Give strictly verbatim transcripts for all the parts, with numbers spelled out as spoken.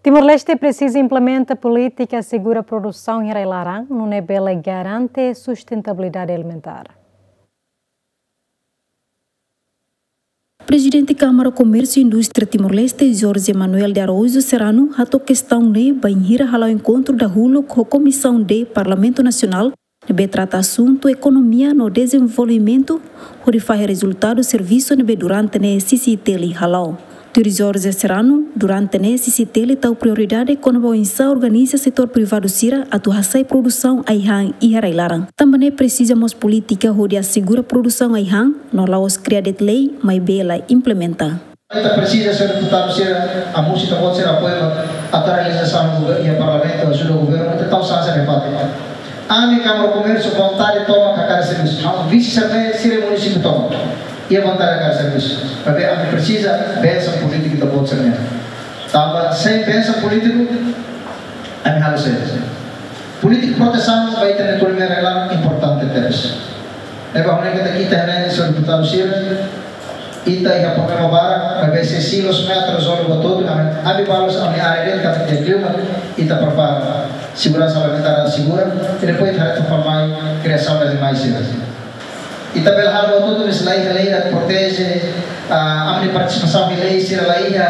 Timor-Leste presiza implementa polítika asegura produsaun iha rai-laran, nune'e bele garante sustentabilidade alimentár. Prezidente Kámara Komérsiu Indústria Timor-Leste, Jorge Manuel de Araújo Serrano, hato'o kestaun ne'e bainhira hala'o enkontru dahuluk ho Komisaun D Parlamentu Nasionál, ne'ebé trata asuntu ekonomia no dezenvolvimentu, hodi fahe rezultadu servisu ne'ebé durante ne'e CCI-T L hala'o. Tuir Jorge Serrano, durante ne'e CCI-T L tau prioridade kona-ba oinsá organiza setór privadu sira atu hasa'e produsaun ai-han iha rai-laran. Tanba ne'e presiza mós polítika hodi asegura produsaun ai-han, no la'ós kria de'it lei, maibé la implementa. Ita presiza, señór deputadu sira, hamosu ita-boot sira apoiu ba atu realizasaun governu iha parlamentu, ajuda governu, ita tau sansa de fato. Ami Kámara Komérsiu vontade tomak hakarak servisu. Ha'u vise sira-ne'e, sira munisípiu tomak iha vontade hakarak servisu. Maibé ami presiza bensaun polítiku ita-boot sira-nian. Tanba sein bensaun polítiku, ami halo sé. Polítika protesaun ba ita-nia ekonomia rai-laran importante tebes. Ne'ebé ha'u hanoin katak ita ne'e, señór deputadu sira, ita iha problema barak, maibé se silos ne'e atu rezolve buat hotu, ami, ami balu sira, ami área de'it katak iha klima, ita prepara seguransa alimentár asegura, i depois ita haree atu fó mai kriasaun animais sira. Ita bele halo buat hotu, mas la iha lei atu proteje, ah, ami-nia partisipasaun iha lei sira la iha,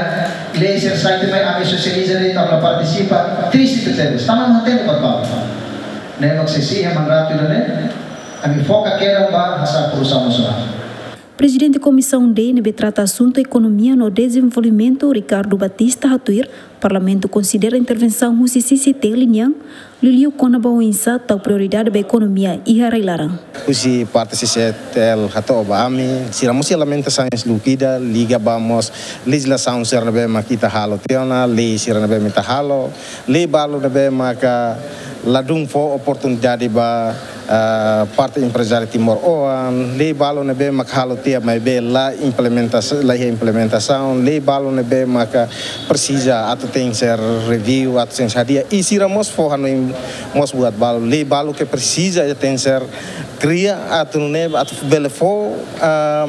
lei sira sai tiha mai ami sosializa de'it, ami la partisipa, triste tebes, tanba ami hatene buat balu. Ne'e mak se iha mandratu ida-ne'e, ami foka kedas ba hasa'e produsaun nasionál. Prezidente Komisaun D ne'ebé trata asuntu ekonomia no dezenvolvimentu, Ricardo Batista, hatuir, Parlamentu konsidera intervensaun husi CCI-T L nian, liuliu kona-ba oinsá tau prioridade ba ekonomia iha rai-laran. Husi parte CCI-T L hato'o ba ami, sira mós iha lamentasaun lukida, liga ba mós lejizlasaun sira ne'ebé mak ita halo tiha ona, lei sira ne'ebé mak ita halo, lei balu ne'ebé maka ladún fó oportunidade ba, ah, parte emprezáriu timoroan, lei balu ne'ebé maka halo tiha maibé la implementasaun, la iha implementasaun, lei balu ne'ebé maka presiza atu tenkesér review, atu tenkesér hadi'a, i sira mós fó hanoin mós buat balu, lei balu ke presiza atu tenkesér kria atu nune'e atu bele fó, ah,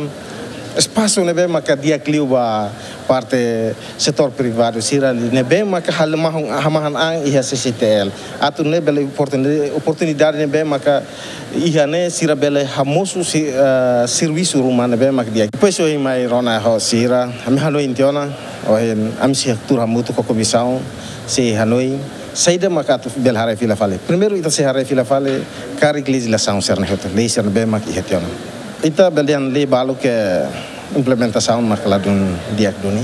espasu ne'ebé maka di'ak liu ba parte setór privadu sira ne'ebé maka halo mahon, hamahan an iha CCI-T L. Atu nune'e bele oportunidade, oportunidade ne'ebé maka iha ne'e sira bele hamosu si, eh, servisu ruma ne'ebé maka di'ak. Depois ohin mai rona ho sira, ami hanoin tiha ona, ohin ami sei tuur hamutuk ho komisaun, sei hanoin saida maka atu bele haree fila fali. Primeiru ita sei haree fila fali karik lejizlasaun sira-ne'e hotu, lei sira ne'ebé maka iha tiha ona. Ita bele dehan lei balu ke implementasaun maka ladún di'ak duni.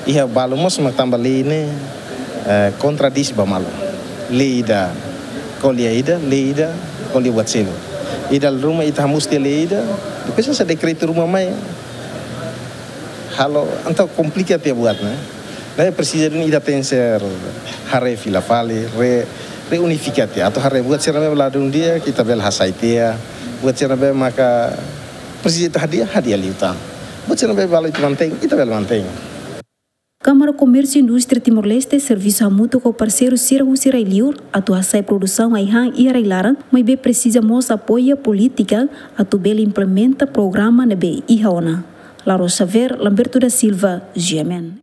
Iha balu mós mak tanba lei ne'e, eh, kontradís ba malu. Lei ida ko'alia ida, lei ida ko'alia buat seluk. Ida ruma ita hamosu tiha lei ida, depois sai dekretu ruma mai. Halo, entaun komplika tiha buat ne'e. Ne'e presiza duni ita tenkesér haree fila fali, re, reunifika tiha. Atu haree buat sira ne'ebé ladún di'ak, ita bele hasai tiha. Buat sira ne'ebé maka presiza ita hadi'a, hadi'a liután. Buat sira ne'ebé balu ita mantein, ita bele mantein. Kámara Komérsiu Indústria Timor-Leste servisu hamutuk ho parseiru sira husi rai-liur atu hasai produsaun ai-han iha rai-laran, maibé presiza mós apoiu polítika atu bele implementa programa ne'ebé iha ona. Laura Xavier, Lamberto da Silva, G M N.